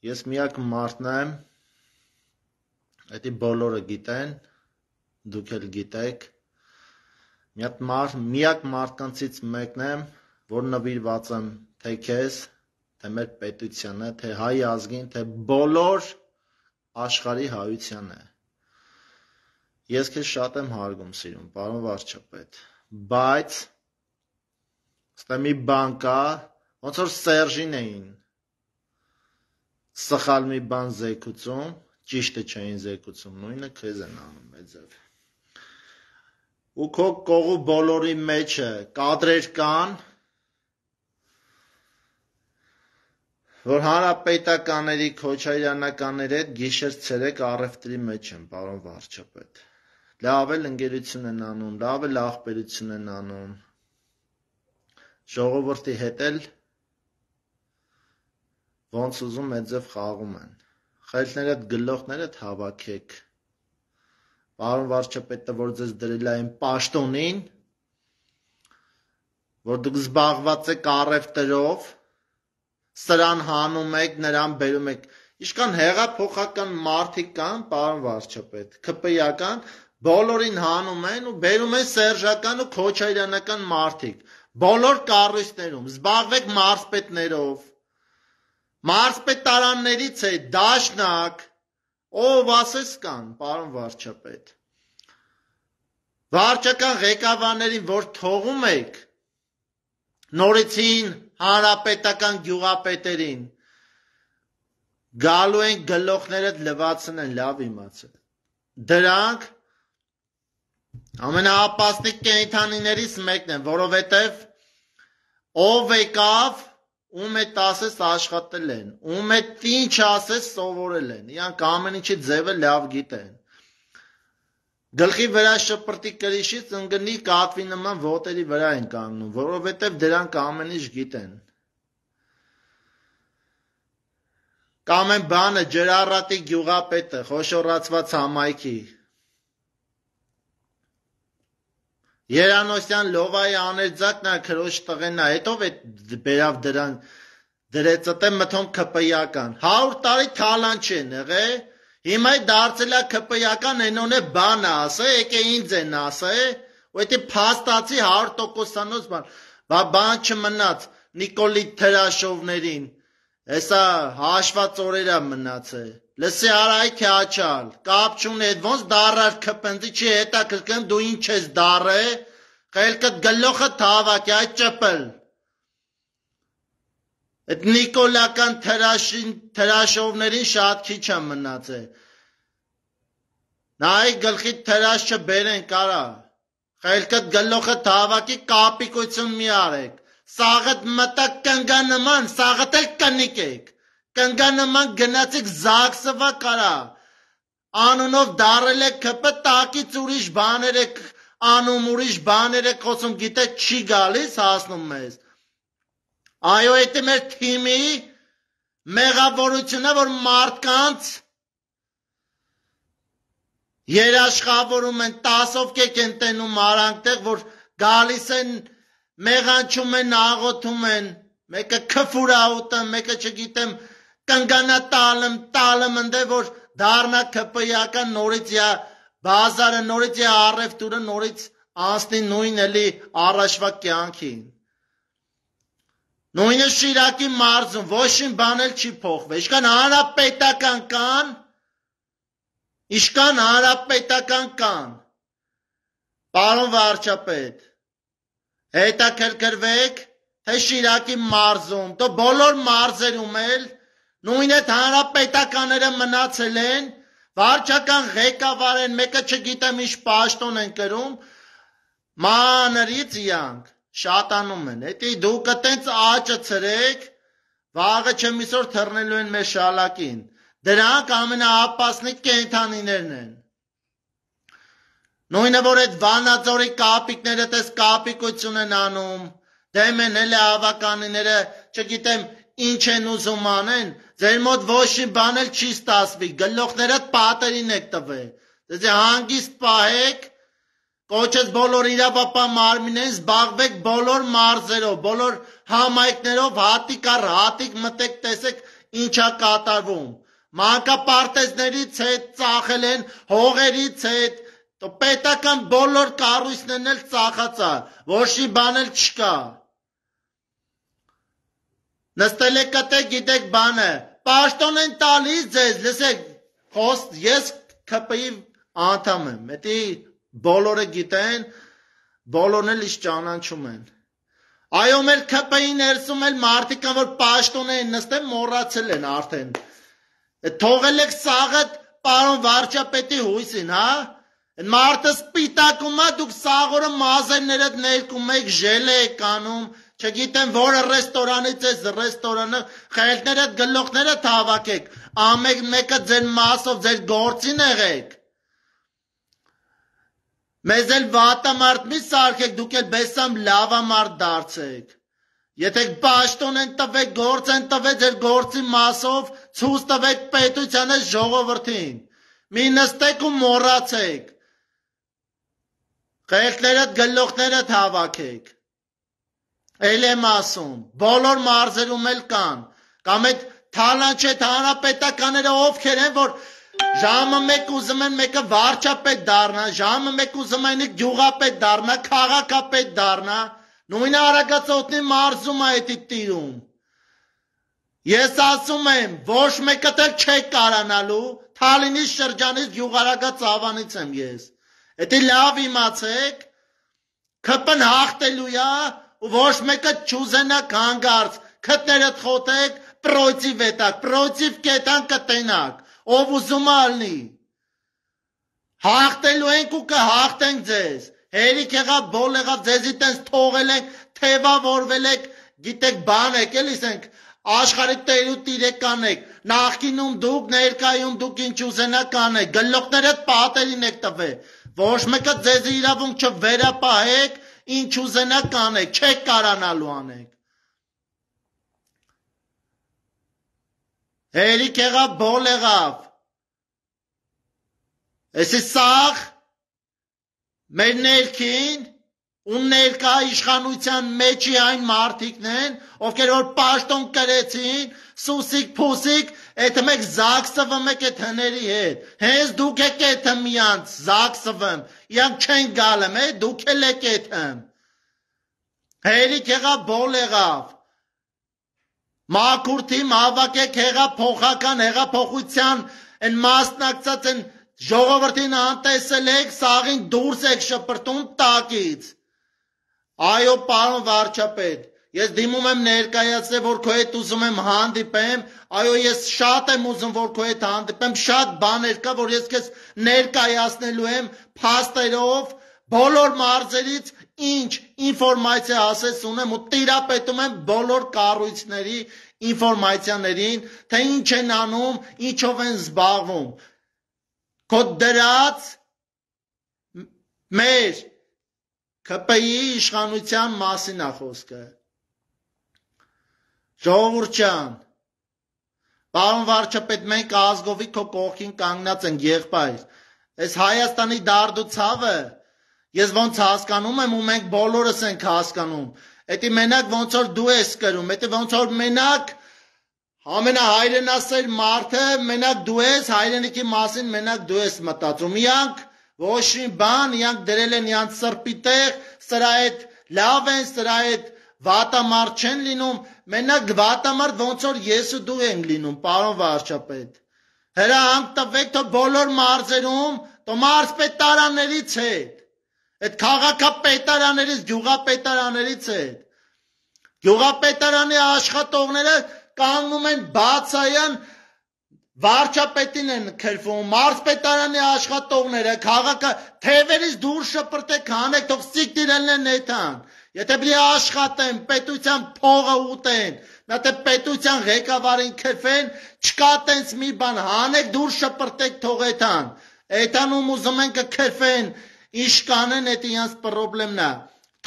Ես միակ մարդն եմ, էդի բոլորը գիտեն, դուք էլ գիտեք, միակ մարդկանցից մեկն եմ, որ նվիրված եմ թե քեզ, թե մեր պետությանը, թե հայ ազգին, թե բոլոր աշխարհի հայությանը։ Ես քեզ շատ եմ հարգում սիրում, պարոն վարչապետ, բայց ստե մի բան կա, ոնց որ Սերժին էին սխալ մի բան զեկուցում, ճիշտը չէին զեկուցում, նույնը քեզ են անում էձև։ Ու քո կողու բոլորի մեջը կադրեր կան, որ հանրապետականների, քոչարյանականների հետ գիշեր-ցերեկ առևտրի մեջ են, պարոն վարչապետ։ Լավ էլ ընկերություն են անում, լավ էլ աղբերություն են անում, ժողովրդի հետ էլ ոնց ուզում էձև խաղում են, խելքներդ գլոխներդ հավաքեք, պարոն վարչապետը, որ ձեզ դրել է այն պաշտոնին, որ դուք զբաղված եք առևտրով, սրան հանում եք, նրան բերում եք, իշքան հեղափոխական մարդիկ կան, պարոն վարչապետ, ՔՊ-ական, բոլորին հանում են ու բերում են սերժական ու քոչարյանական մարդիկ, բոլոր կառույցներում, զբաղվեք մարզպետներով, մարզպետարաններից է, դաշնակ, ով ասես կան, պարոն վարչապետ, վարչական ղեկավարներին, որ թողում եք, նորեցին հանրապետական գյուղապետերին, գալու են գլոխներդ լվացնեն, լավ իմացել, դրանք ամենաապասնիկ կենդանիներից մեկն են, որովհետև ով եկավ, ում հետ ասես աշխատել են, ում հետ ինչ ասես սովորել են, իրանք ամեն ինչի ձևը լավ գիտեն, գլխի վրա շպրտի կրիշից ընկնի կատվի նման ոտերի վրա են կանգնում, որովհետև դրանք ամեն ինչ գիտեն, կամ են բանը ջրառատի գյուղապետը, խոշորացված համայնքի, Երանոսյան լովայի աներձակն է քրոջ տղեն է, հետով է բերավ դրան դրեցըտ է մթոն ԿՊ-ական, 100 տարի թալան չեն եղե, հիմա դարձել է ԿՊ-ական ենոն է բան ասե, եկե ինձ են ասե, ու էտի փաստացի 100%-անոց բան չմնաց Նիկոլի Թրաշովներին, հեսա հաշված օրերա մնաց է, լսի արայք է աչալ, կապ չունի էդ ոնց դարար կպնձի չի հետաքրքրում դու ինչ ես դար է, խելքդ գլոխը թավակ է այդ ճպլ, էդ նիկոլական թրաշովներին շատ քիչ է մնաց է, նայի գլխի թրաշ չբերեն կարա, խելքդ գլոխը թավակի կապիկություն մի արեք, սաղըտ մտակ կնգանման, սաղըտ էլ կնիկ եք, կնգանման գնացիք զագսվա կարա, անունով դարել եք կպը տակից ուրիշ բաներ եք անում, ուրիշ բաներ եք խոսում, գիտե չի գալիս հասնում մեզ, այո էտի մեր թիմի մեղավորությունը, որ մարդկանց երաշխավորում են, 10-ով կեք են տենում արանքտեղ, որ գալիս են, մեղանչում են, աղոթում են, մեկը քֆուրա ուտեմ, մեկը չգիտեմ, կնգանա տալım ընդ է, որ դարնա ԿՊ-ական նորից յա բազարը, նորից յա առևտուրը, նորից անցնի նույն էլի առաջվա կյանքին, նույնը Շիրակի մարզում, ոչին բան էլ չի փոխվել, իշքան հանրապետական կան, պարոն վարչապետ, հետաքրքրվեք, թե Շիրակի մարզում, તો բոլոր մարզերում էլ, նույն այդ հանրապետականները մնացել են, վարչական ղեկավար են, մեկը չգիտեմ ինչ պաշտոն են կրում, մանրից իրանք, շատանում են, հետի դուք տենց աճը ցրեք, վաղը չեմ իսօր թռնելու են մեր շալակին, դրանք ամենաապասնիկ կենդանիներն են, նույնը որ այդ Վանաձորի կապիկները տես կապիկություն են անում, դեմ են էլ ավականիները, չգիտեմ ինչ են ուզում անեն, ձեր մոտ ոչի բան էլ չի ստացվի, գլոխներդ պատերին եք տվել, դեզի հանգիստ պահեք, կոչեց բոլոր իրավապահ մարմիններին, զբաղվեք բոլոր մարզերով, բոլոր համայնքներով, հատիկ առ հատիկ մտեք տեսեք ինչա կատարվում։ Մանկապարտեզներից հետ ծախել են, հողերից հետ, պետական բոլոր կառույցներն էլ ծախած է, ոչ մի բան էլ չկա։ Նստել եք կտեք, գիտեք բանը, պաշտոն են տալիս ձեզ, լսեք, ես ՔՊ-ի անդամ եմ, էդի բոլորը գիտեն, բոլորն էլ իս ճանաչում են։ Այո, մեր ՔՊ-ի ներսում էլ մարդիկ կան, որ պաշտոն են նստել, մոռացել են արդեն։ Թողել եք սաղը պարոն վարչապետի հույսին, հա։ Մարդը սպիտակում է, դուք սաղորը մազերներդ ներկում եք, ժել եք անում, չգիտեմ որը ռեստորանից ես, ռեստորանը, խելքներդ գլոխներդ հավաքեք, ամեն մեկը ձեր մասով, ձեր գործին եղեք։ Մեզ էլ վատամարդ մի սարքեք, դուք էլ բեսամ լավամարդ դարձեք։ Եթե պաշտոն են տվեք, գործ են տվեք, ձեր գործի մասով, ցույց տվեք պետությանը ժողովրդին։ Մի նստեք ու մոռացեք։ Խելքներդ գլոխներդ հավաքեք։ Էլ եմ ասում, բոլոր մարզերում էլ կան, կամ այդ թալանչետ հանրապետականները ովքեր են, որ ժամը մեկ ուզում են մեկը վարչապետ դառնա, ժամը մեկ ուզում են գյուղապետ դառնա, քաղաքապետ դառնա, նույնը Արագածոտնի մարզում է էդի տիրում։ Ես ասում եմ, ոչ մեկը դեռ չեք կարանալու, Թալինի շրջանից գյուղարագած ավանից եմ ես։ Էդի լավ իմացեք, ՔՊ-ն հաղթելու է, ու ոչ մեկը չուզենակ հանգարց, քտներդ խոթեք, պրոյցիվ էտակ, պրոյցիվ կետան կտենակ, ով ուզում ալնի։ Հաղթելու ենք ու կհաղթենք ձեզ, հերիք եղավ, բոլ եղավ, ձեզի տենց թողել ենք, թևավորվել եք, գիտեք բան եք, էլիս ենք, աշխարհի տեր ու տիրեկան եք, նախկինում դուք, ներկայում դուք ինչ ուզենակ անեք, գլոխներդ պատերին եք տվել, ոչ մեկը ձեզի իրավունք չվերապահեք, ինչ ուզենակ անեք, չեք կարանալու անեք։ Հերիք եղավ, բոլ եղավ։ Էսի սաղ մեր ներքին ու ներկա իշխանության մեջի այն մարդիկն են, ովքեր որ պաշտոն կրեցին, սուսիկ փուսիկ, էդ մեկ զաքսվում եք էդ հների հետ։ Հենց դուք եք էդ միանց զաքսվում, իրանք չեն գալեմ, դուք էլ եք էդմ։ Հերիք եղավ, բոլ եղավ։ Մաքուրթիմ հավաքեք հեղափոխական հեղափոխության են մասնակցած են ժողովրդին անտեսել եք, սաղին դուրս եք շպրտում տակից։ Այո, պարոն վարչապետ, ես դիմում եմ ներկայացնել, որ քո հետ ուզում եմ հանդիպեմ, այո, ես շատ եմ ուզում, որ քո հետ հանդիպեմ, շատ բաներ կա, որ ես քեզ ներկայացնելու եմ փաստերով, բոլոր մարզերից ինչ ինֆորմացիա ասես ունեմ ու տիրապետում եմ բոլոր կառույցների ինֆորմացիաներին, թե ինչ են անում, ինչով են զբաղվում։ Քո դրած մեր ՔՊ-ի իշխանության մասին է խոսքը։ Ժողովուրդ ջան, պարոն վարչապետ, մենք ազգովի քո կողքին կանգնած ենք, եղբայր։ Այս Հայաստանի դարդու ցավը ես ոնց հասկանում եմ ու մենք բոլորս ենք հասկանում։ Էդի մենակ ոնց որ դու ես կրում, էդի ոնց որ մենակ ամենահայրենասեր մարդը մենակ դու ես, հայրենիքի մասին մենակ դու ես մտածում։ Իրանք ոչ մի բան, իրանք դրել են իրանք սրբի տեղ, սրա հետ լավ են, սրա հետ վատամարդ չեն լինում, մենակ վատամարդ ոնց որ ես ու դու ենք լինում, պարոն վարչապետ։ Հրահանգ տվեք, թող բոլոր մարզերում, թող մարզպետարաններից հետ, այդ քաղաքապետարաններից, գյուղապետարաններից հետ, գյուղապետարանի աշխատողները կանգնում են բացայան վարչապետին են քրվում, մարզպետարանի աշխատողները, թևերից դուրս շպրտեք հանեք, թող սիկտիրելն են նետան, եթե բլի աշխատեն, պետության փողը ուտեն, նատե պետության ղեկավարին քրվեն, չկա տենց մի բան, հանեք դուրս շպրտեք թող էթան, էթանում ուզում են կքրվեն, ինչ կանեն, էդ իրանց պրոբլեմն է,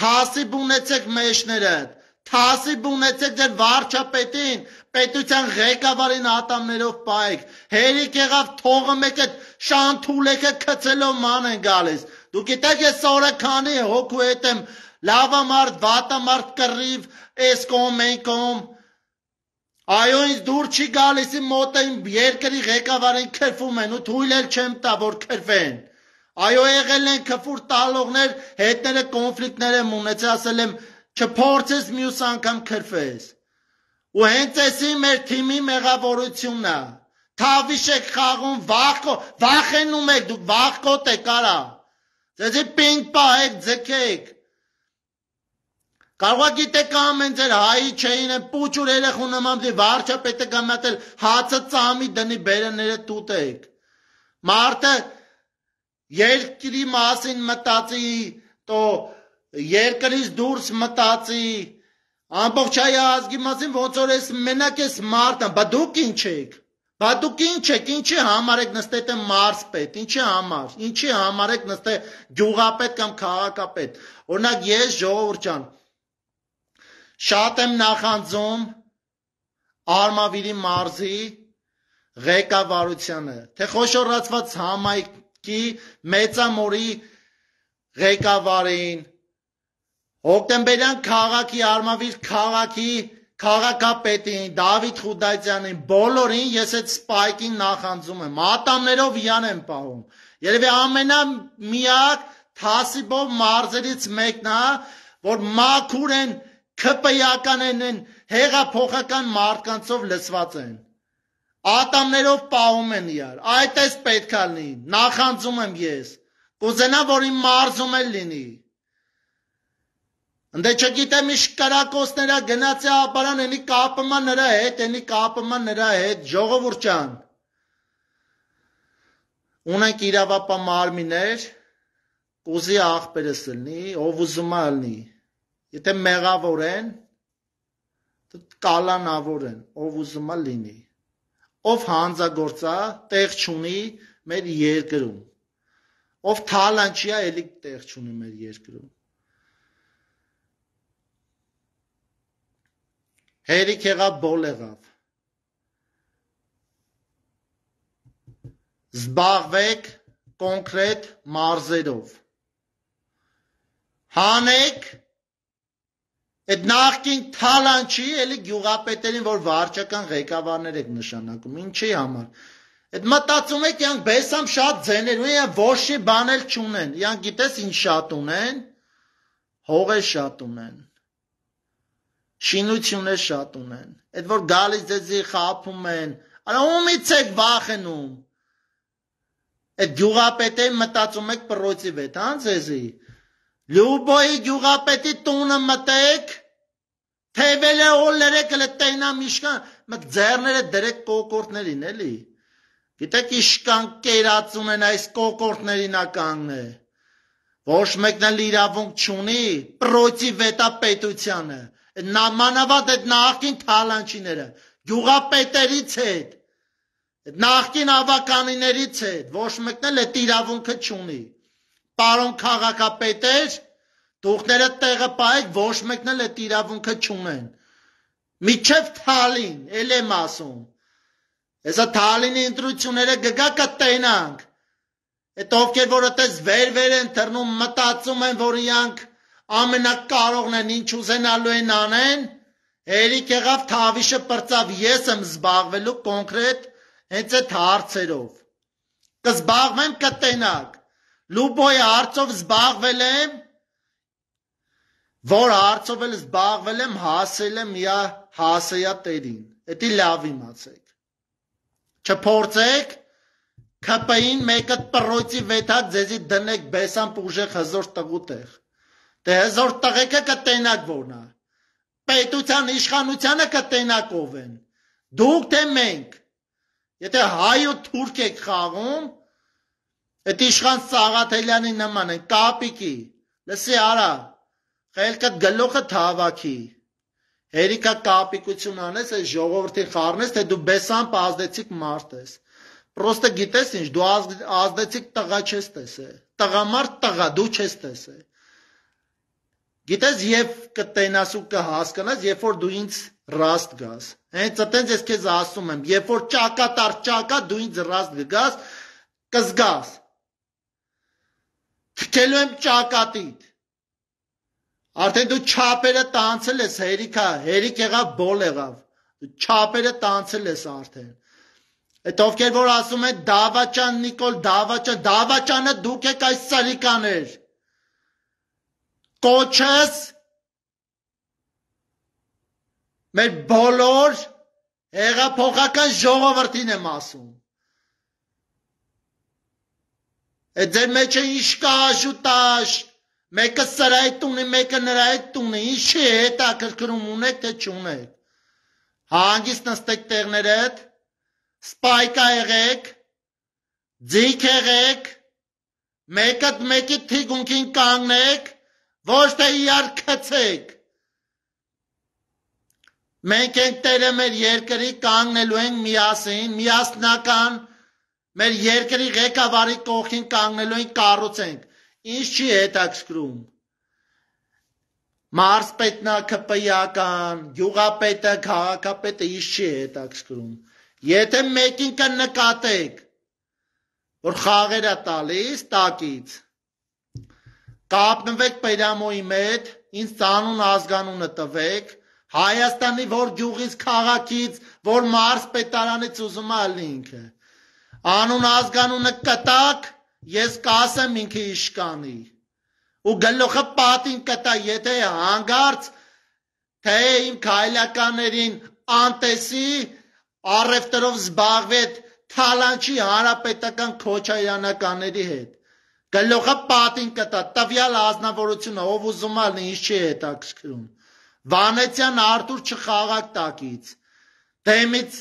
թասիբ ունեցեք մեջներդ, թասիբ ունեցեք ձեր վարչապետին, պետության ղեկավարին ատամներով պայեք, հերիք եղավ թողը մեկ այդ շանթուլեքը քցելով ման են գալիս, դուք գիտեք ես օրը քանի հոգու հետ եմ, լավամարդ, վատամարդ կռիվ, էս կողմ, այն կողմ, Այո, ինձ դուր չի գալիս իմ մոտ են երկրի ղեկավարին քրվում են ու թույլ էլ չեմ տա, որ քրվեն։ Այո, եղել են քֆուր տալողներ, հետները կոնֆլիկտներ եմ ունեցել, ասել եմ չփորձես մյուս անգամ քրվես։ Ու հենց էսի մեր թիմի մեղավորությունն է։ Թավիշ եք խաղում, վախենում եք, դուք վախկոտ եք արա։ Ձեզի պինգ պահեք, ձգեք։ Կարող է գիտեք ամեն ձեր հայի չէին են պուչուր երեխու նման վարչապետը գամատել հացը ծամի դնի բերեները տուտեք։ Մարդը երկրի մասին մտածի, տո երկրից դուրս մտածի, ամբողջ հայ ազգի մասին ոնց որ ես մենակ ես մարդը, բա դուք ինչ եք։ Բա դուք ինչ եք, ինչի համար եք նստել եք մարզպետ, ինչի համար եք նստել գյուղապետ կամ քաղաքապետ։ Օրինակ ես ժողովուրդ ջան շատ եմ նախանձում Արմավիրի մարզի ղեկավարությանը, թե խոշորացված համայնքի մեծամորի ղեկավարին, Հոկտեմբերյան քաղաքի Արմավիր քաղաքի քաղաքապետին, Դավիթ Խուդայցյանին, բոլորին ես այդ սպայքին նախանձում եմ, ատամներով յան եմ պահում, երևի ամենամիակ թասիբով մարզերից մեկն է, որ մաքուր են ՔՊ-ական են, հեղափոխական մարդկանցով լսված են, ատամներով պահում են իրար, այդ էս պետք է լինի, նախանձում եմ ես, կուզենամ, որ իմ մարզում էլ լինի, ընդ չգիտեմ ինչ կրակոցները գնացի ապարան, ենի կապıma նրա հետ, ժողովուրդ ջան, ունենք իրավապահ մարմիններ, կուզի աղբերս լինի, ով ուզում է լինի, եթե մեղավոր են, կալանավոր են, ով ուզում է լինի, ով հանձագործա, տեղ չունի մեր երկրում, ով թալանչի է, էլի տեղ չունի մեր երկրում, հերիք եղավ բոլ եղավ, զբաղվեք կոնկրետ մարզերով, հանեք այդ նախկին թալանչի էլի գյուղապետերին, որ վարչական ղեկավարներ եք նշանակում, ինչի համար, այդ մտածում եք յանք բեսամ շատ ձեներ, ու յան ոչի բան էլ չունեն, յանք գիտես ինչ շատ ունեն, հողեր շատ ունեն, շինություններ շատ ունեն, այդ որ գալիս ձեզի խափում են, արա ումից եք վախենում, այդ գյուղապետին մտածում եք պռոցի վետ, հան ձեզի, Լյուբոյի գյուղապետի տունը մտեք, թևել է օլերեք էլ տենամ իշկան, մկ ձերները դրեք կոկորտներին էլի, գիտեք իշկան կերացում են այս կոկորտներին ականգն է, ոչ մեկնել իրավունք չունի, պռոցի վետա պետությանը, մանավանդ այդ նախկին թալանչիները, գյուղապետերից հետ, նախկին ավականիներից հետ, ոչ մեկնել այդ իրավունքը չունի, պարոն քաղաքապետեր, դուքները տեղը պահեք, ոչ մեկն էլ այդ իրավունքը չունեն, միջև թալին, էլ եմ ասում, հեսա թալինի ընտրությունները գգա կտենանք, այդ ովքեր որ այդպես վեր են թռնում, մտածում են, որ իրանք ամենակարողն են, ինչ ուզենալու են անեն, հերիք եղավ թավիշը պրծավ, ես եմ զբաղվելու կոնկրետ հենց այդ հարցերով, կզբաղվեմ կտենակ, Լուբոյի հարցով զբաղվել եմ, որ հարցով էլ զբաղվել եմ, հասել եմ իա հասեյա տերին, էդի լավ իմացեք, չփորձեք, ՔՊ-ին մեկը պռոցի վետակ ձեզի դնեք բեսան պուժեք հզոր տղու տեղ, դե հզոր տղեկը կտենակ որնա, պետության իշխանությանը կտենակ ով են, դուք թե մենք, եթե հայ ու թուրք եք խաղում, Այդ իշխան Սաղաթելյանի նման են, կապիկի, լսի արա, խելքդ գլուխը թավակի, հերիքա կապիկություն անես, այս ժողովրդի խառնես, թե դու բեսամբ ազդեցիկ մարդ ես, պրոստը գիտես ինչ, դու ազդեցիկ տղա չես տեսե, տղամարդ տղա, դու չես տեսե, գիտես և կտենաս ու կհասկանաս, երբ որ դու ինձ ռաստ գաս, հենց այտենց ես քեզ ասում եմ, երբ որ ճակատար ճակա, դու ինձ ռաստ գաս, կզգաս, Թքելու եմ ճակատիդ, արդեն դու չապերը տանցել ես հերիք եղավ, բոլ եղավ, Չապերը տանցել ես արդեն։ Այդ ովքեր որ ասում են Դավաճան Նիկոլ, Դավաճանը դուք եք այս սալիկաներ։ Կոչես մեր բոլոր հեղափոխական ժողովրդին եմ ասում։ Այդ ձեր մեջ է ինչ կա աշուտաշ, մեկը սրա հետ ունի, մեկը նրա հետ ունի, ինչի հետաքրքրում ունեք, թե չունեք։ Հանգիստ նստեք տեղներդ, սպայկա եղեք, ձիգ եղեք, մեկը մեկի թիկունքին կանգնեք, ոչ թե իրար քցեք։ Մենք ենք տերը մեր երկրի, կանգնելու ենք միասին, միասնական, մեր երկրի ղեկավարի կողքին կանգնելու ենք, կառուցենք։ Ինչ չի հետաքրքրում։ Մարզպետն է ԿՊԻ-ական, գյուղապետը, քաղաքապետը ինչ չի հետաքրքրում։ Եթե մեկին կնկատեք, որ խաղեր է տալիս տակից, կապնվեք Պերամոյի հետ, ինձ ծանուն ազգանունը տվեք, Հայաստանի որ գյուղից, քաղաքից, որ մարզպետարանից ուզում է ալնի ինքը։ Անուն ազգանունը կտակ, ես կասեմ ինքը իշկանի։ Ու գլուխը պատին կտա, եթե հանգարց, թե իմ քայլականներին անտեսի, առևտրով զբաղվի այդ թալանչի հանրապետական քոչայանականների հետ։ Գլուխը պատին կտա, տվյալ ազնվորությունը, ով ուզում ալնի, ինչ չի հետաքրքրում։ Վանեցյան Արթուր չխաղակ տակից, դեմից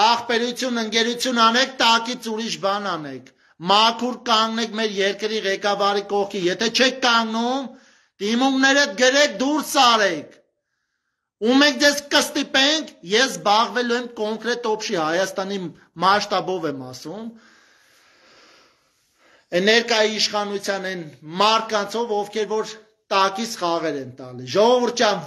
աղբերություն, ընկերություն անեք, տակից ուրիշ բան անեք, մաքուր կանգնեք մեր երկրի ղեկավարի կողքի, եթե չեք կանգնում, դիմումներդ գրեք դուրս արեք, ու մենք ձեզ կստիպենք, ես զբաղվելու եմ կոնկրետ օբշի Հայաստանի մասշտաբով եմ ասում, ներկայի իշխանության են մարկանցով, ովքեր որ տակից խաղեր են տալի։ Ժողովուրդ ջան,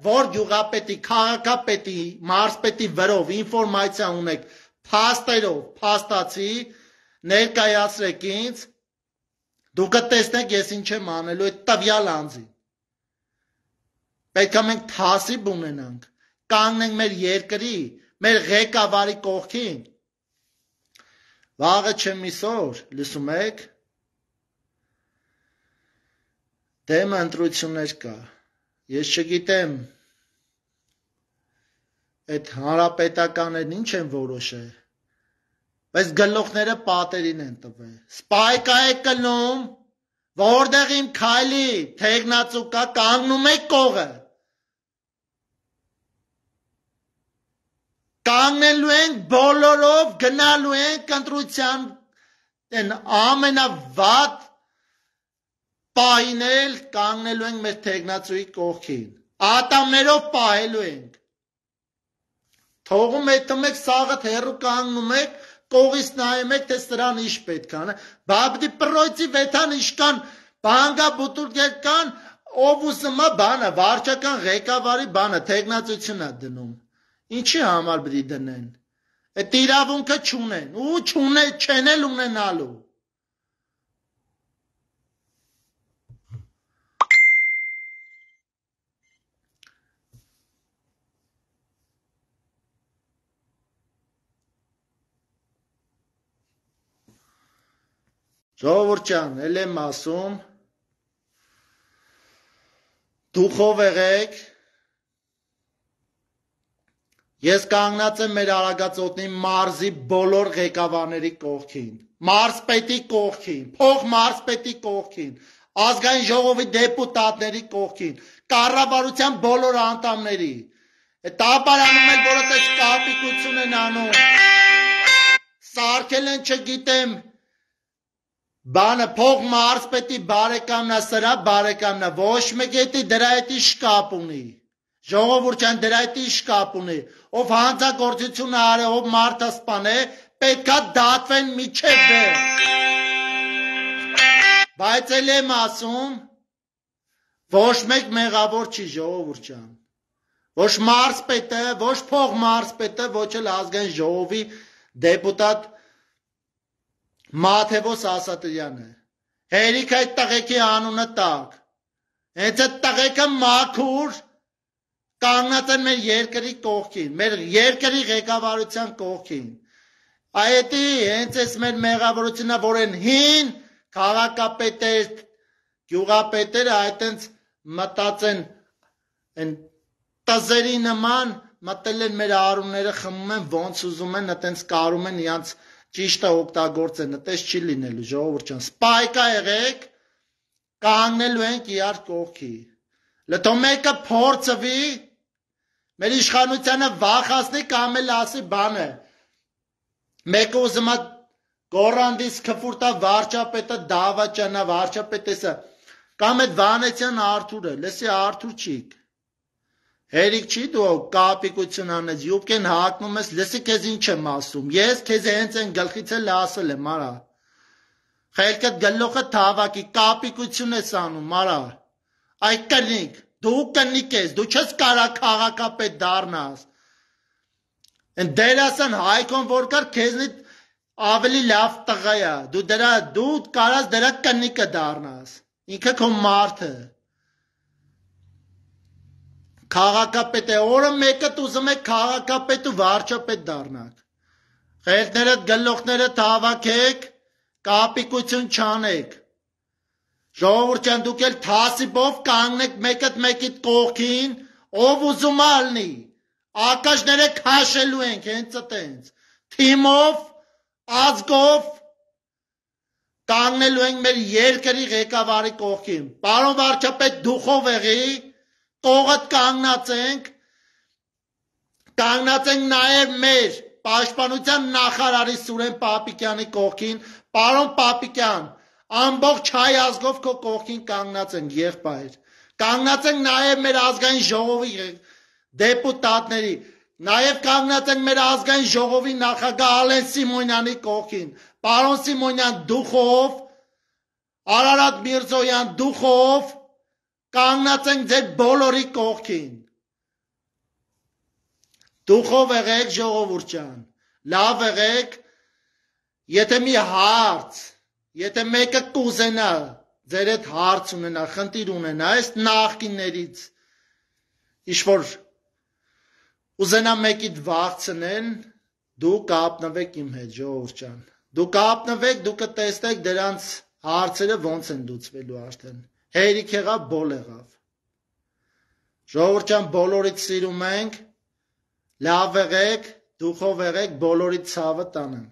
որ գյուղապետի, քաղաքապետի, մարզպետի վրով ինֆորմացիա ունեք, փաստերով, փաստացի, ներկայացրեք ինձ, դուք կտեսնեք ես ինչ եմ անելու այդ տվյալ անձին։ Պետք է մենք թասիբ ունենանք, կանգնենք մեր երկրի, մեր ղեկավարի կողքին։ Վաղը չմիսօր, լսում եք, դեմ ընտրություններ կա, ես չգիտեմ, այդ հանրապետականներն ինչ են որոշել, բայց գլուխները պատերին են տվել, սպայկա է կլնում, որտեղ իմ քայլի թեղնածու կա, կանգնում եք կողը, կանգնելու ենք բոլորով, գնալու ենք ընտրության ամենավատ պահինել, կանգնելու ենք մեր թեղնածուի կողքին, ատամներով պահելու ենք, թողում եք սաղըտ հեռու կանգնում եք, կողից նայում եք, թե սրան ինչ պետք է, բաբդի պրոյցի վեթան իշկան, բանգա բուտուրգեր կան, ով ուսմա բանը, վարչական ղեկավարի բանը, թեղնածություն է դնում, ինչի համար բրի դնեն, այդ իրավունքը չունեն, ու չեն էլ ունենալու, Ժողովուրդ ջան, էլ եմ ասում, դուխով եղեք, ես կանգնած եմ մեր Արագածոտնի մարզի բոլոր ղեկավարների կողքին, մարզպետի կողքին, փոխմարզպետի կողքին, ազգային ժողովի դեպուտատների կողքին, կառավարության բոլոր անդամների, տապարանում են, որ այդպես կապիկություն են անում, սարքել են չգիտեմ, բանը փող մարզպետի բարեկամնա, սրա բարեկամնա, ոչ մեկ էտի դրա էտի շկապ ունի, ժողովուրդ ջան դրա էտի շկապ ունի, ով հանցագործություն արե, ով մարդասպան է, պետքա դատվեն միջև վերջ, բայց էլ եմ ասում, ոչ մեկ մեղավոր չի ժողովուրդ ջան, ոչ մարզպետը, ոչ փող մարզպետը, ոչ էլ ազգային ժողովի դեպուտատ Մաթևոս Ասատրյանը, հերիք այդ տղեկի անունը տակ, հենց այդ տղեկը մաքուր, կանգնած են մեր երկրի կողքին, մեր երկրի ղեկավարության կողքին։ Այդի հենց այս մեր մեղավորությունն որ են հին քաղաքապետեր, գյուղապետերը այտենց մտածեն են տզերի նման մտել են մեր արունները խմում են ոնց ուզում են այտենց կարում են իրանց ճիշտը օգտագործեն, այտես չի լինելու ժողովուրդ ջան, սպայկա եղեք, կանգնելու ենք իրար կողքի։ Լթո մեկը փորձվի մեր իշխանությանը վախացնի կամ էլ ասի բանը։ Մեկը ուզում է գոռանդիս քֆուրտա վարչապետը դավաճանա վարչապետեսը կամ այդ Վանեցյան Արթուրը, լսի Արթուր չիկ։ Հերիք չի դու կապիկություն անես, յուբկեն հակնում ես, լսի քեզ ինչ եմ ասում։ Ես քեզ հենց այն գլխից էլ ասել եմ, արա։ Խելքդ գլոխը թավակի կապիկություն ես անում, արա։ Այ կնիկ, դու կնիկ ես, դու չես կարա քաղաքապետ դառնաս։ Են դերասան Հայկոն որ կար քեզնից ավելի լավ տղա է, դու կարաս դրա կնիկը դառնաս։ Ինքը քո մարդը։ Քաղաքապետ է, օրը մեկը ուզում եք քաղաքապետ ու վարչապետ դառնաք։ Խելքներդ գլոխները թավակեք, կապիկություն չանեք։ Ժողովուրդ ջան, դուք էլ թասիբով կանգնեք մեկիդ կողքին, ով ուզում ալնի։ Ակաշները քաշելու ենք հենց այտենց։ Թիմով, ազգով կանգնելու ենք մեր երկրի ղեկավարի կողքին։ Պարոն վարչապետ, դուխով եղի, կողդ կանգնած ենք նաև մեր պաշտպանության նախարարի Սուրեն Պապիկյանի կողքին, պարոն Պապիկյան, ամբողջ հայ ազգով քո կողքին կանգնած ենք եղբայր, կանգնած ենք նաև մեր ազգային ժողովի դեպուտատների, նաև կանգնած ենք մեր ազգային ժողովի նախագահ Ալեն Սիմոնյանի կողքին, պարոն Սիմոնյան դուխով, Արարատ Միրզոյան դուխով, կանգնած ենք ձեր բոլորի կողքին։ Դուխով եղեք ժողովուրդ ջան, լավ եղեք, եթե մի հարց, եթե մեկը կուզենա, ձեր հետ հարց ունենա, խնդիր ունենա, այս նախկիններից, ինչ-որ ուզենա մեկիդ վախցնեն, դու կապնվեք իմ հետ ժողովուրդ ջան, դու կապնվեք, դու կտեսնեք դրանց հարցերը ոնց են լուծվելու արդեն, հերիք եղավ, բոլ եղավ, ժողովուրդ ջան, բոլորիդ սիրում ենք, լավ եղեք, դուխով եղեք, բոլորիդ ցավը տանեմ։